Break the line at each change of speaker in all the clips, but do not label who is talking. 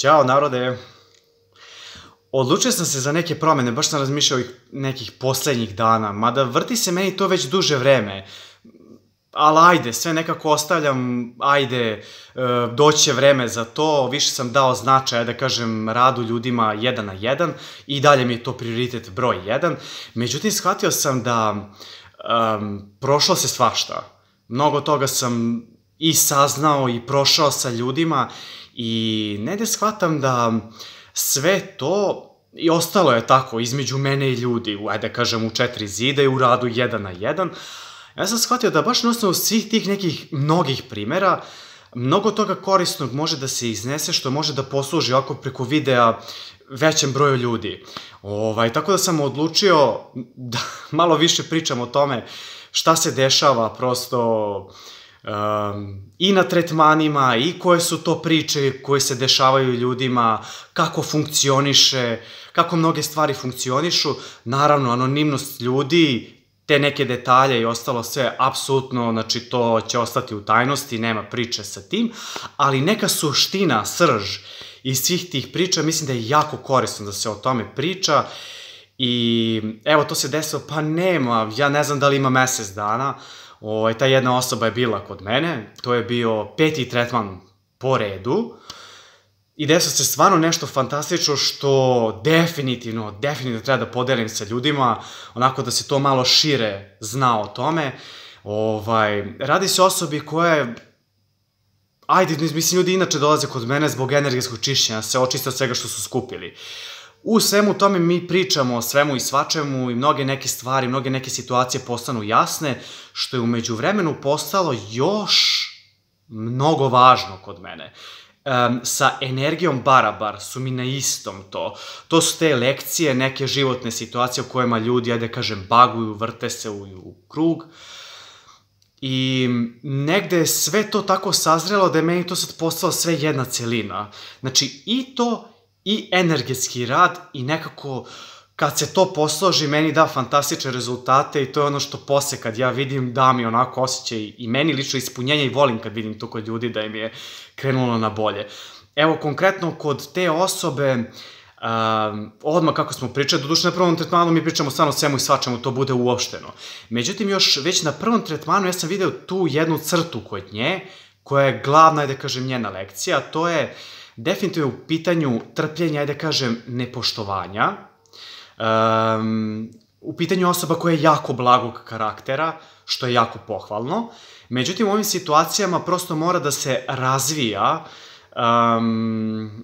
Ćao narode, odlučio sam se za neke promene, baš sam razmišljao nekih poslednjih dana, mada vrti se meni to već duže vreme, ali ajde, sve nekako ostavljam, ajde, doći će vreme za to, više sam dao značaja, da kažem, radu ljudima 1 na 1 i dalje mi je to prioritet broj 1, međutim shvatio sam da prošlo se svašta, mnogo toga sam i saznao i prošao sa ljudima i negde shvatam da sve to i ostalo je tako između mene i ljudi, ajde da kažem u 4 zida i u radu 1 na 1. Ja sam shvatio da baš na osnovu svih tih nekih mnogih primera, mnogo toga korisnog može da se iznese što može da posluži ovako preko videa većem broju ljudi. Tako da sam odlučio da malo više pričam o tome šta se dešava prosto i na tretmanima i koje su to priče koje se dešavaju ljudima, kako funkcioniše, kako mnoge stvari funkcionišu, naravno anonimnost ljudi, te neke detalje i ostalo sve, apsolutno, znači to će ostati u tajnosti, nema priče sa tim, ali neka suština, srž iz svih tih priča, mislim da je jako korisno da se o tome priča i evo to se desilo, pa nema, ja ne znam da li ima mesec dana, ta jedna osoba je bila kod mene, to je bio 5. tretman po redu i desilo se stvarno nešto fantastično što definitivno treba da podelim sa ljudima, onako da se to malo šire zna o tome. Radi se o osobi koja je, ajde, mislim, ljudi inače dolaze kod mene zbog energetskog čišćenja, se očiste od svega što su skupili. U svemu tome mi pričamo o svemu i svačemu i mnoge neke stvari, mnoge neke situacije postanu jasne, što je umeđu vremenu postalo još mnogo važno kod mene. Sa energijom Barabar su mi na istom to. To su te lekcije, neke životne situacije u kojima ljudi, ajde kažem, baguju, vrte se u krug. I negde je sve to tako sazrelo da je meni to sad postalo sve jedna celina. Znači i to i energetski rad i nekako kad se to posloži meni da fantastične rezultate i to je ono što posle kad ja vidim da mi onako osjećaj i meni lično ispunjenje i volim kad vidim to kod ljudi da im je krenulo na bolje. Evo konkretno kod te osobe, odmah kako smo pričali, doduše na prvom tretmanu mi pričamo stvarno svemu i svačemu, to bude uopšteno. Međutim još već na prvom tretmanu ja sam video tu jednu crtu kod nje koja je glavna, ajde kažem, njena lekcija, a to je definitivno u pitanju trpljenja, ajde kažem, nepoštovanja, u pitanju osoba koja je jako blagog karaktera, što je jako pohvalno. Međutim, u ovim situacijama prosto mora da se razvija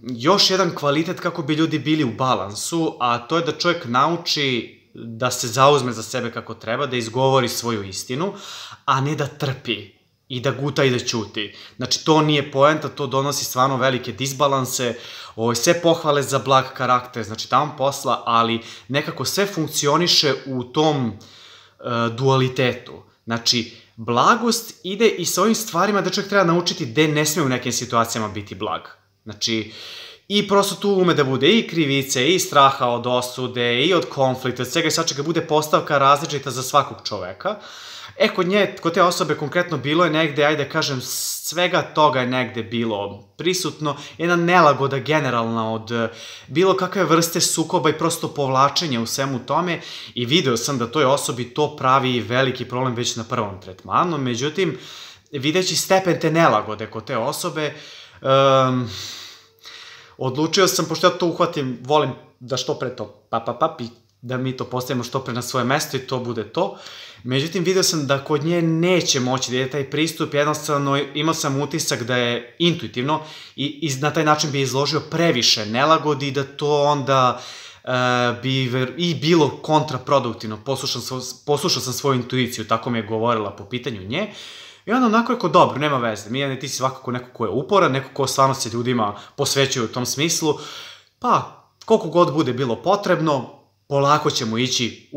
još jedan kvalitet kako bi ljudi bili u balansu, a to je da čovjek nauči da se zauzme za sebe kako treba, da izgovori svoju istinu, a ne da trpi i da guta i da ćuti. Znači, to nije poenta, to donosi stvarno velike disbalanse, sve pohvale za blag karakter, znači tamo posla, ali nekako sve funkcioniše u tom dualitetu. Znači, blagost ide i sa ovim stvarima da čovjek treba naučiti gde ne sme u nekim situacijama biti blag. Znači, i prosto tu ume da bude i krivice, i straha od osude, i od konflikta, od svega i svačega bude postavka različita za svakog čoveka. Kod te osobe konkretno bilo je negde, ajde kažem, svega toga je negde bilo prisutno, jedna nelagoda generalna od bilo kakve vrste sukoba i prosto povlačenja u svemu tome i video sam da toj osobi to pravi veliki problem već na prvom tretmanu, međutim, videći stepen te nelagode kod te osobe, odlučio sam, pošto ja to uhvatim, volim da što pre to i da mi to postavimo što pre na svoje mesto i to bude to. Međutim, vidio sam da kod nje neće moći da ide taj pristup, jednostavno imao sam utisak da je intuitivno i na taj način bi izložio previše nelagodi i da to onda bi i bilo kontraproduktivno. Poslušao sam svoju intuiciju, tako mi je govorila po pitanju nje. I onda onako rekao, dobro, nema veze, Mijane, ti si svakako neko ko je uporan, neko ko stvarno se ljudima posvećuje u tom smislu, pa koliko god bude bilo potrebno, polako ćemo ići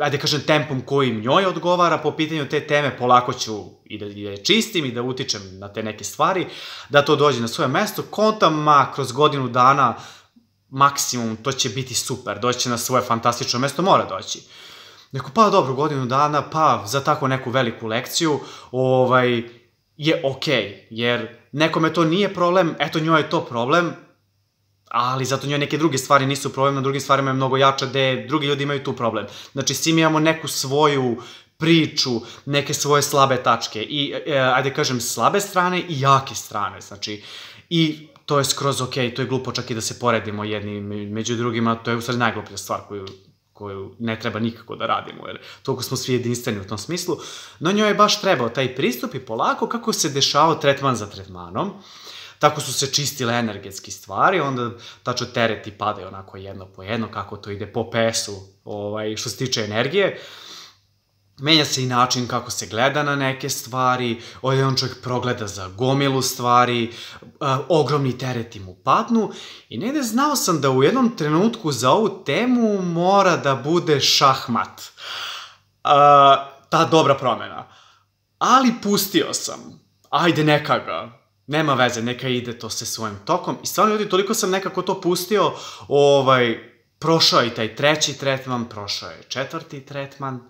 ajde kažem, tempom kojim njoj odgovara po pitanju te teme, polako ću i da je čistim i da utičem na te neke stvari, da to dođe na svoje mesto, kontam, kroz godinu dana, maksimum, to će biti super, doći će na svoje fantastično mesto, mora doći. Neko, pa dobro, godinu dana, pa za tako neku veliku lekciju, je okej, jer nekome to nije problem, eto njoj je to problem, ali zato njoj neke druge stvari nisu problem, na drugim stvarima je mnogo jača, gde drugi ljudi imaju tu problem. Znači, svi mi imamo neku svoju priču, neke svoje slabe tačke i, ajde kažem, slabe strane i jake strane, znači, i to je skroz okej, to je glupo čak i da se poredimo jedni među drugima, to je u stvari najgluplja stvar koju ne treba nikako da radimo, jer toliko smo svi jedinstveni u tom smislu, no njoj je baš trebao taj pristup i polako kako se dešavao tretman za tretmanom, tako su se čistile energetski stvari, onda tačno tereti padaju onako jedno po jedno, kako to ide po PS-u, što se tiče energije. Menja se i način kako se gleda na neke stvari, jedan čovjek progleda za gomilu stvari, ogromni tereti mu padnu i negde znao sam da u jednom trenutku za ovu temu mora da bude šahmat. Ta dobra promena. Ali pustio sam. Ajde, neka ga. Nema veze, neka ide to se svojim tokom. I stvarno, ljudi, toliko sam nekako to pustio, prošao je i taj 3. tretman, prošao je 4. tretman,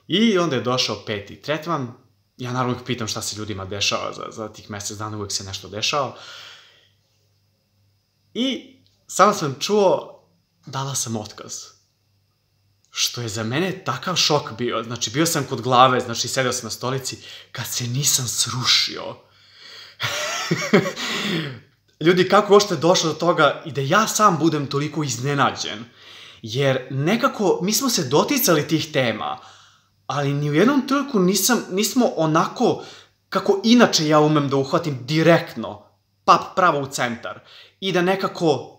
i onda je došao 5. tretman. Ja naravno ih pitam šta se ljudima dešava za tih mesec dana, uvek se nešto dešava. I samo sam čuo, dala sam otkaz. Što je za mene takav šok bio. Znači, bio sam kod glave, znači, sedeo sam na stolici, kad se nisam srušio. Ljudi, kako uopšte je došlo do toga i da ja sam budem toliko iznenađen. Jer nekako, mi smo se doticali tih tema, ali ni u jednom trenutku nismo onako, kako inače ja umem da uhvatim direktno, pravo u centar, i da nekako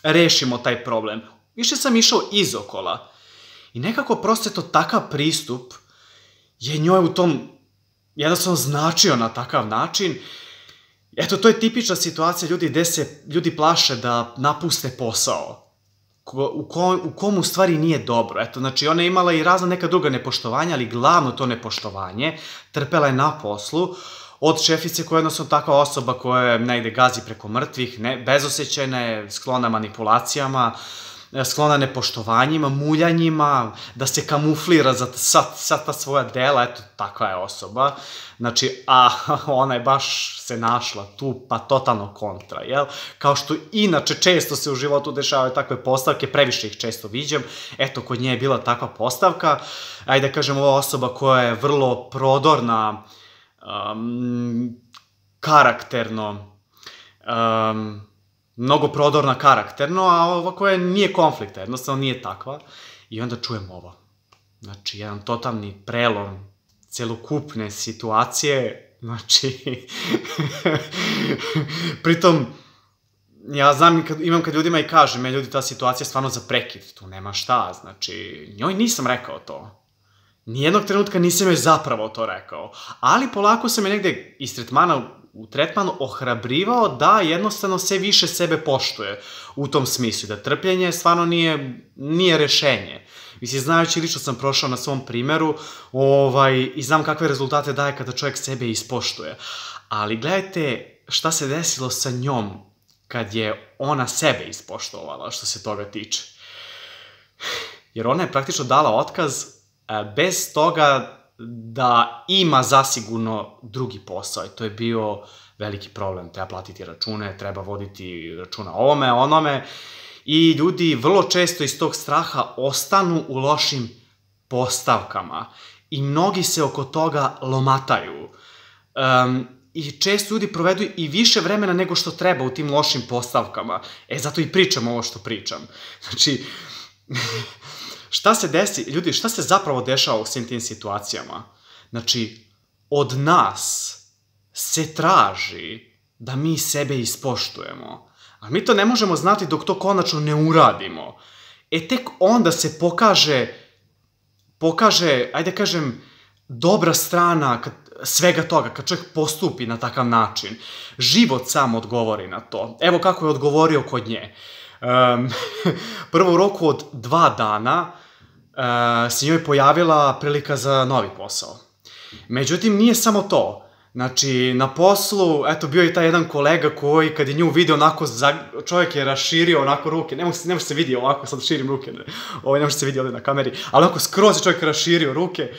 rešimo taj problem. Više sam išao izokola. I nekako prosto je to takav pristup, je njoj u tom jednostavno značio na takav način. Eto, to je tipična situacija, ljudi, gde se ljudi plaše da napuste posao, u kom u stvari nije dobro. Eto, znači, ona je imala i razna neka druga nepoštovanja, ali glavno to nepoštovanje trpela je na poslu od šefice koja je jednostavno takva osoba koja je negde gazi preko mrtvih, bezosećajna je, sklona manipulacijama, sklona nepoštovanjima, muljanjima, da se kamuflira za ta svoja dela, eto, takva je osoba. Znači, a ona je baš se našla tu, pa totalno kontra, jel? Kao što inače često se u životu dešavaju takve postavke, previše ih često viđam, eto, kod nje je bila takva postavka, ajde da kažem, ova osoba koja je vrlo prodorna, karakterno, mnogo prodorna karakterno, a ova koja nije konflikta, jednostavno nije takva. I onda čujem ovo. Znači, jedan totalni prelom celokupne situacije, znači, pritom, ja znam, imam kad ljudima i kažem, ljudi, ta situacija je stvarno za prekid, tu nema šta, znači, njoj nisam rekao to. Nijednog trenutka nisam joj zapravo to rekao, ali polako sam je negde iz tretmana u tretmanu ohrabrivao da jednostavno sve više sebe poštuje u tom smislu, da trpljenje stvarno nije rešenje. Mislim, znajući, lično sam prošao na svom primeru i znam kakve rezultate daje kada čovjek sebe ispoštuje. Ali gledajte šta se desilo sa njom kad je ona sebe ispoštovala što se toga tiče. Jer ona je praktično dala otkaz bez toga da ima zasigurno drugi posao i to je bio veliki problem. Treba platiti račune, treba voditi računa o ovome, onome i ljudi vrlo često iz tog straha ostanu u lošim postavkama i mnogi se oko toga lomataju. I često ljudi provedu i više vremena nego što treba u tim lošim postavkama. Zato i pričam ovo što pričam. Znači, šta se desi, ljudi, šta se zapravo dešava u svim tim situacijama? Znači, od nas se traži da mi sebe ispoštujemo. A mi to ne možemo znati dok to konačno ne uradimo. Tek onda se pokaže, ajde kažem, dobra strana svega toga, kad čovjek postupi na takav način. Život sam odgovori na to. Evo kako je odgovorio kod nje. Prvo u roku od 2 dana se njoj pojavila prilika za novi posao. Međutim, nije samo to. Znači, na poslu, eto, bio je taj jedan kolega koji, kad je nju vidio onako, čovjek je raširio onako ruke, ne može se vidi ovako, sad širim ruke, ne može se vidi ovdje na kameri, ali onako skroz je čovjek raširio ruke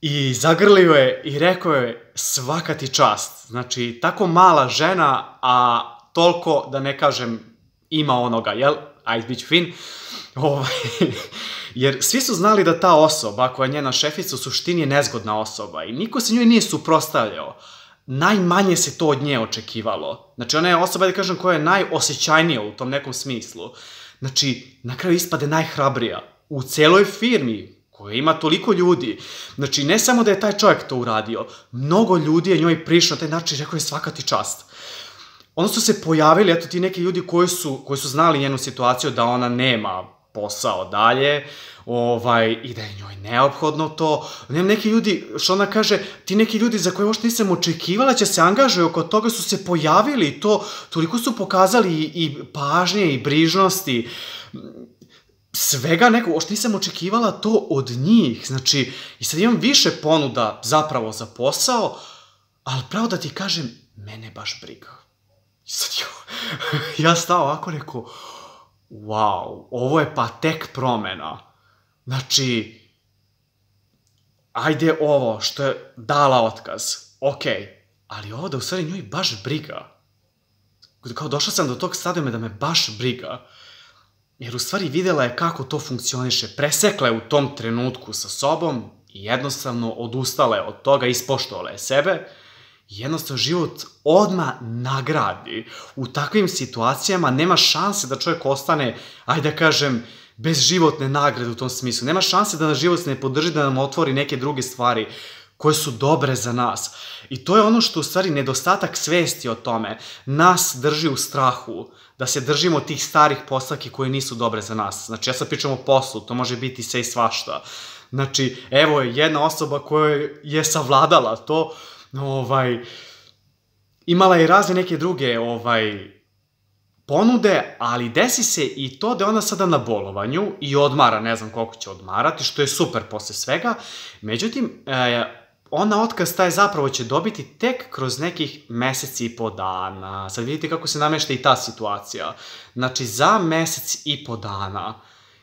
i zagrlio je i rekao je svaka ti čast. Znači, tako mala žena, a toliko da ne kažem ima onoga, jel? Ajde, bit ću fin. Jer svi su znali da ta osoba koja je njena šefica u suštini je nezgodna osoba i niko se njoj nije suprotstavljao. Najmanje se to od nje očekivalo. Znači, ona je osoba, da kažem, koja je najosjećajnija u tom nekom smislu. Znači, na kraju ispade najhrabrija u celoj firmi koja ima toliko ljudi. Znači, ne samo da je taj čovjek to uradio, mnogo ljudi je njoj prišlo na taj način i rekao je svaka ti čast. Onda su se pojavili, eto, ti neki ljudi koji su znali njenu situaciju da ona nema posao dalje, i da je njoj neophodno to. Nema neki ljudi, što ona kaže, ti neki ljudi za koje uopšte nisam očekivala će se angažuju, oko toga su se pojavili i to, toliko su pokazali i pažnje i brižnosti, svega nekog, uopšte nisam očekivala to od njih. Znači, i sad imam više ponuda zapravo za posao, ali pravo da ti kažem, mene baš briga. I sad ja stao ovako rekao, wow, ovo je pa tek promena. Znači, ajde ovo što je dala otkaz, okej, ali ovo da u stvari njoj baš briga. Kao došao sam do tog stadijuma da me baš briga. Jer u stvari videla je kako to funkcioniše. Presekla je u tom trenutku sa sobom i jednostavno odustala je od toga, ispoštovala je sebe. Jednostavno život odmah nagradi. U takvim situacijama nema šanse da čovjek ostane, ajde da kažem, bez životne nagrade u tom smislu. Nema šanse da nas život ne podrži, da nam otvori neke druge stvari koje su dobre za nas. I to je ono što u stvari nedostatak svesti o tome nas drži u strahu, da se držimo tih starih postavki koje nisu dobre za nas. Znači, ja sad pričam o poslu, to može biti sve i svašta. Znači, evo je jedna osoba koja je savladala to, imala je razne neke druge ponude, ali desi se i to da je ona sada na bolovanju i odmara, ne znam koliko će odmarati, što je super posle svega. Međutim, ona otkaz taj zapravo će dobiti tek kroz nekih meseci i po dana. Sad vidite kako se namešta i ta situacija. Znači, za mesec i po dana.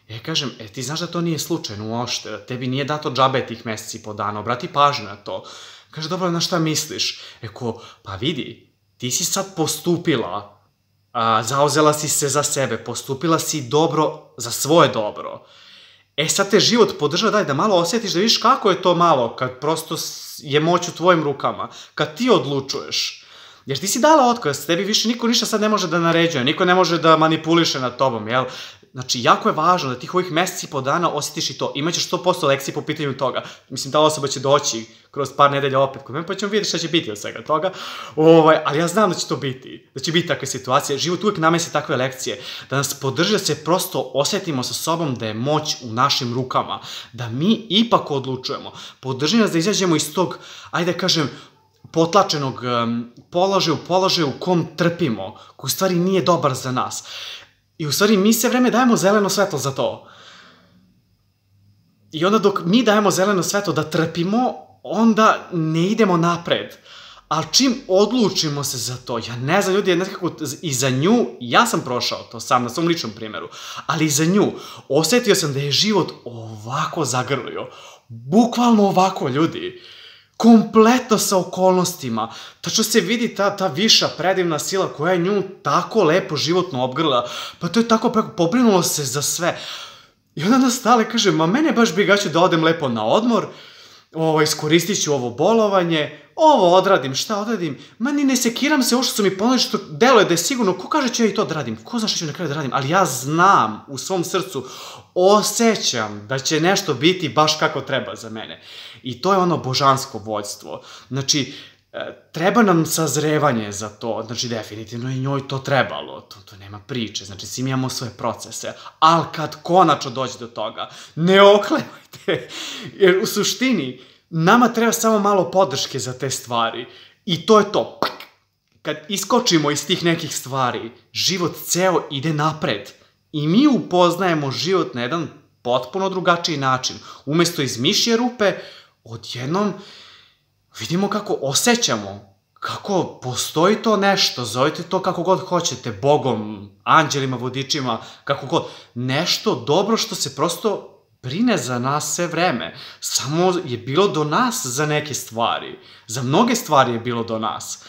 Ja kažem, ti znaš da to nije slučajno uopšte, da tebi nije dato džabe tih meseci i po dana, obrati pažnju na to. Kaže, dobro, na šta misliš? Eko, pa vidi, ti si sad postupila, zauzela si se za sebe, postupila si dobro za svoje dobro. Sad te život podržava, daj da malo osjetiš, da vidiš kako je to malo, kad prosto je moć u tvojim rukama, kad ti odlučuješ. Jer ti si dala otkaz, tebi više niko ništa sad ne može da naređuje, niko ne može da manipuliše nad tobom, jel? Znači, jako je važno da tih ovih meseci i po dana osjetiš i to. Imaćeš 100% lekcije po pitanju toga. Mislim, ta osoba će doći kroz par nedelja opet kod mene, pa ćemo vidjeti šta će biti od svega toga. Ali ja znam da će to biti, da će biti takve situacije. Život uvijek namesi takve lekcije, da nas podrži da se prosto osjetimo sa sobom da je moć u našim rukama, da mi ipak odlučujemo. Podrži nas da izađemo iz tog, ajde da kažem, potlačenog položaja u kom trpimo, koji u stvari nije dobar za nas. I u stvari mi sve vreme dajemo zeleno svetlo za to. I onda dok mi dajemo zeleno svetlo da trpimo, onda ne idemo napred. Ali čim odlučimo se za to, ja ne znam, ljudi, nekako i za nju, ja sam prošao to sam na svom ličnom primjeru, ali i za nju, osjetio sam da je život ovako zagrlio. Bukvalno ovako, ljudi. Kompletno sa okolnostima. Tačno se vidi ta viša predivna sila koja je nju tako lepo životno obgrla. Pa to je tako pobrinulo se za sve. I onda nas stale kaže, ma mene baš briga, ću da odem lepo na odmor, iskoristit ću ovo bolovanje, ovo odradim, šta odradim, ma ni ne sekiram se, ovo što su mi ponudili, što deluje da je sigurno, ko kaže ću ja i to da radim, ko zna što ću na kraju da radim, ali ja znam u svom srcu, osjećam da će nešto biti baš kako treba za mene. I to je ono božansko vođstvo. Znači, treba nam sazrevanje za to, znači definitivno je njoj to trebalo, to nema priče, znači svi mi imamo svoje procese, ali kad konačno dođe do toga, ne oklevajte, jer u suštini nama treba samo malo podrške za te stvari i to je to. Kad iskočimo iz tih nekih stvari, život ceo ide napred i mi upoznajemo život na jedan potpuno drugačiji način. Umesto iz mišje rupe, odjednom vidimo kako osjećamo, kako postoji to nešto, zovite to kako god hoćete, Bogom, anđelima, vodičima, kako god. Nešto dobro što se prosto brine za nas sve vreme. Samo je bilo do nas za neke stvari. Za mnoge stvari je bilo do nas.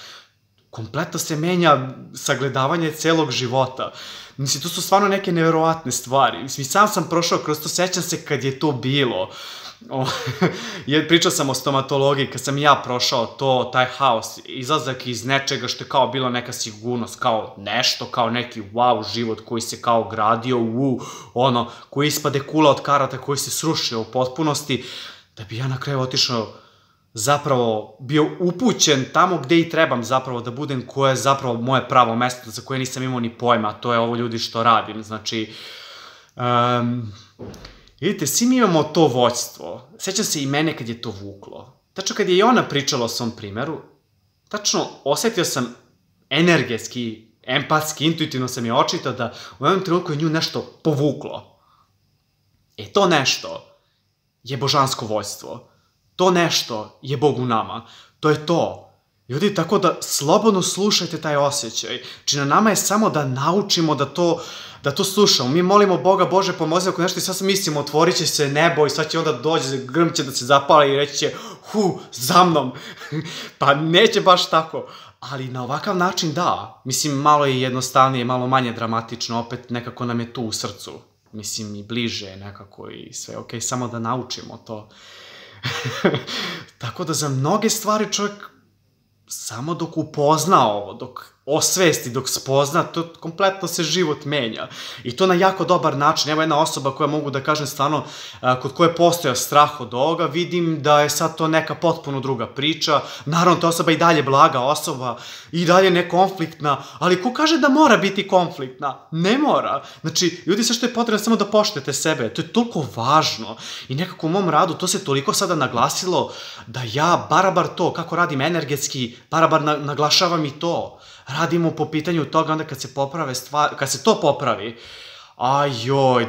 kompletno se menja sagledavanje celog života. Mislim, to su stvarno neke neverovatne stvari. Mislim, sam sam prošao kroz to, sećam se kad je to bilo. Pričao sam o stomatologiji, kad sam ja prošao taj haos, izlazak iz nečega što je kao bila neka sigurnost, kao nešto, kao neki wow život koji se kao gradio, koji ispade kula od karata, koji se srušio u potpunosti, da bi ja na kraju otišao, zapravo bio upućen tamo gde i trebam zapravo da budem, koje je zapravo moje pravo mesto za koje nisam imao ni pojma, a to je ovo ljudi što radim. Znači, vidite, svi mi imamo to vođstvo. Sećam se i mene kad je to vuklo. Tačno kad je i ona pričala o svom primeru, tačno osetio sam energetski, empatski, intuitivno sam je očitao da u jednom trenutku je nju nešto povuklo. To nešto je božansko vođstvo. To nešto je Bog u nama. To je to. Ljudi, tako da slobodno slušajte taj osjećaj. Znači, na nama je samo da naučimo da to slušamo. Mi molimo Boga, Bože, pomozi ako nešto i sad mislimo, otvorit će se nebo i sad će onda dođe, grm će da se zapali i reći će, za mnom. Pa neće baš tako. Ali na ovakav način da. Mislim, malo je jednostavnije, malo manje dramatično, opet nekako nam je tu u srcu. Mislim, i bliže nekako i sve. Okej, samo da naučimo to. Tako da za mnoge stvari čovjek samo dok upozna ovo, dok osvesti, dok spozna, to kompletno se život menja. I to na jako dobar način. Evo jedna osoba koja mogu da kažem stvarno, kod koje postoja strah od ovoga, vidim da je sad to neka potpuno druga priča. Naravno, ta osoba i dalje blaga osoba, i dalje nekonfliktna, ali ko kaže da mora biti konfliktna? Ne mora. Znači, ljudi, sve što je potrebno samo da poštujete sebe. To je toliko važno. I nekako u mom radu to se toliko sada naglasilo da ja, barabar to, kako radim energetski, barabar naglašavam i to. Radimo po pitanju toga onda kad se poprave stvari, kad se to popravi,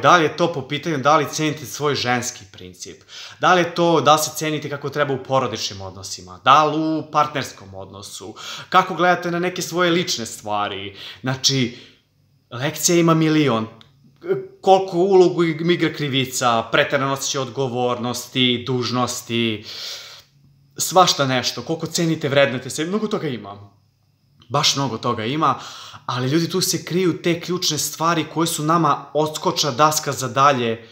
da li je to po pitanju da li cenite svoj ženski princip, da li je to da li se cenite kako treba u porodičnim odnosima, da li u partnerskom odnosu, kako gledate na neke svoje lične stvari. Znači, lekcija ima milion. Koliko ulogu igra krivica, preterano osjećaj odgovornosti, dužnosti, svašta nešto, koliko cenite, vrednete se, mnogo toga ima. Baš mnogo toga ima, ali ljudi, tu se kriju te ključne stvari koje su nama odskočna daska za dalje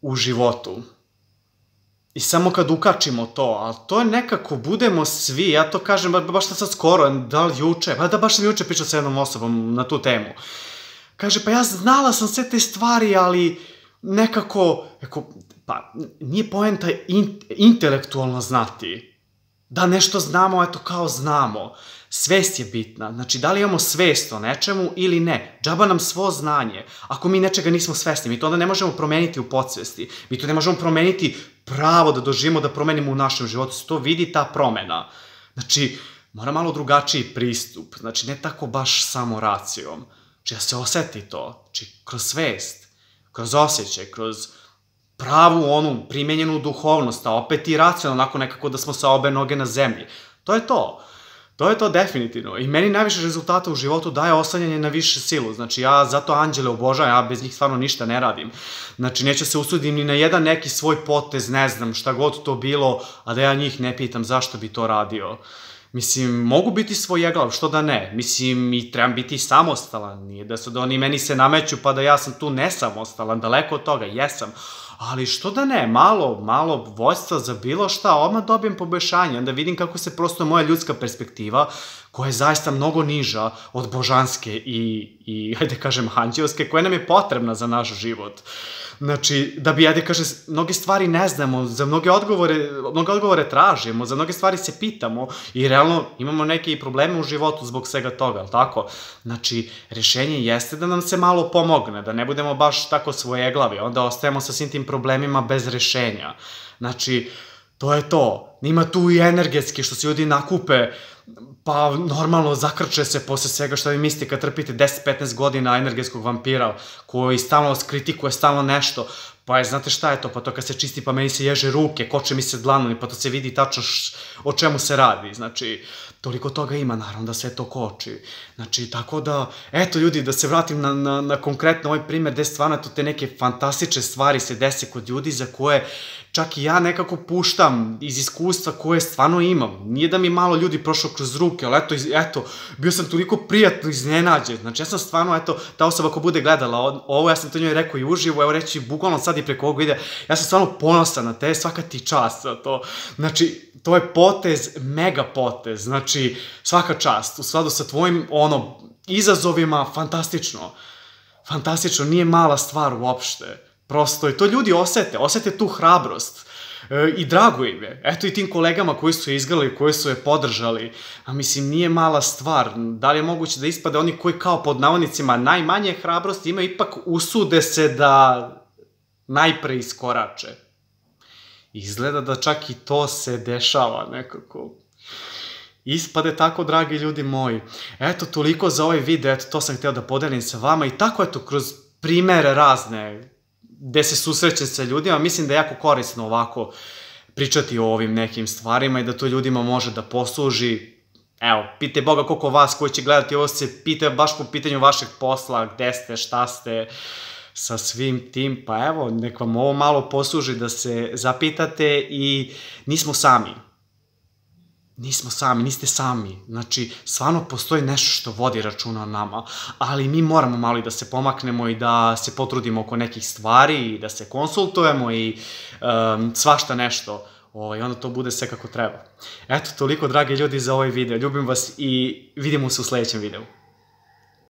u životu. I samo kad ukačimo to, ali to je nekako, budemo svi, ja to kažem baš sad skoro, da li juče, da baš sam juče pričao sa jednom osobom na tu temu. Kaže, pa ja znala sam sve te stvari, ali nekako, pa nije poenta intelektualno znati. Da nešto znamo, eto kao znamo. Svest je bitna. Znači, da li imamo svest o nečemu ili ne. Džaba nam svo znanje. Ako mi nečega nismo svesni, mi to onda ne možemo promeniti u podsvesti. Mi to ne možemo promeniti pravo da doživimo, da promenimo u našem životu. Se to vidi ta promena. Znači, mora malo drugačiji pristup. Znači, ne tako baš samo racijom. Znači, da se oseti to. Znači, kroz svest, kroz osjećaj, kroz pravu onu primenjenu duhovnost, a opet i racionalno, onako nekako da smo sa obe noge na zemlji. To je to. To je to definitivno. I meni najviše rezultata u životu daje oslanjanje na više silu. Znači, ja zato anđele obožavam, ja bez njih stvarno ništa ne radim. Znači, neću se usudim ni na jedan neki svoj potez, ne znam, šta god to bilo, a da ja njih ne pitam zašto bi to radio. Mislim, mogu biti svojeglav, što da ne. Mislim, i trebam biti samostalan. Nije da su da oni meni se nameću pa da ja sam tu nesamostalan, daleko od toga, jesam. Ali što da ne, malo vođstva za bilo šta, odmah dobijem poboljšanje, onda vidim kako se prosto moja ljudska perspektiva, koja je zaista mnogo niža od božanske i hajde kažem, anđelske, koja nam je potrebna za naš život. Znači, da bi, hajde kažem, mnoge stvari ne znamo, za mnoge odgovore tražimo, za mnoge stvari se pitamo i realno imamo neke probleme u životu zbog svega toga, ali tako? Znači, rešenje jeste da nam se malo pomogne, da ne budemo baš tako svojeglavi, onda ostajemo sa svim tim problemima bez rešenja. Znači, to je to. Nima tu i energetski, što se ljudi nakupe, pa normalno zakrče se posle svega što vi mislite kad trpite 10-15 godina energetskog vampira koji stalno vas kritikuje, stalno nešto, Pa je, znate šta je to, pa to kad se čisti, pa meni se ježe ruke, koče mi se dlanovi, pa to se vidi tačno o čemu se radi, znači, toliko toga ima, naravno da sve to koči. Znači, tako da, eto ljudi, da se vratim na konkretno ovaj primer, gde stvarno te neke fantastične stvari se dese kod ljudi za koje čak i ja nekako puštam iz iskustva koje stvarno imam. Nije da mi malo ljudi prošlo kroz ruke, ali eto, bio sam toliko prijatno iznenađen. Znači, ja sam stvarno, eto, ta osoba ko bude gledala ovo, ja sam to njoj rekao i uživo, evo reći, bukvalno sad i preko ovog videa, ja sam stvarno ponosan na te, svaka ti čast za to. Znači, to je potez, mega potez, znači, svaka čast, u skladu sa tvojim, izazovima, fantastično. Fantastično, nije mala stvar uopšte. Prosto, i to ljudi osete tu hrabrost. I drago im je. Eto i tim kolegama koji su je izgrali, koji su je podržali. A mislim, nije mala stvar. Da li je moguće da ispade oni koji kao pod navodnicima najmanje hrabrosti imaju, ipak usude se da najpre iskorače. Izgleda da čak i to se dešava nekako. Ispade tako, dragi ljudi moji. Eto, toliko za ovaj video, eto, to sam hteo da podelim sa vama i tako, eto, kroz primere razne, gde se susrećem sa ljudima, mislim da je jako korisno ovako pričati o ovim nekim stvarima i da to ljudima može da posluži. Evo, pitaj Boga koliko vas koji će gledati ovo se pita baš po pitanju vašeg posla, gde ste, šta ste, sa svim tim, pa evo, nek vam ovo malo posluži da se zapitate i nismo sami. Nismo sami, niste sami. Znači, stvarno postoji nešto što vodi računa o nama, ali mi moramo malo i da se pomaknemo i da se potrudimo oko nekih stvari i da se konsultujemo i svašta nešto. Onda to bude sve kako treba. Eto, toliko, dragi ljudi, za ovaj video. Ljubim vas i vidimo se u sledećem videu.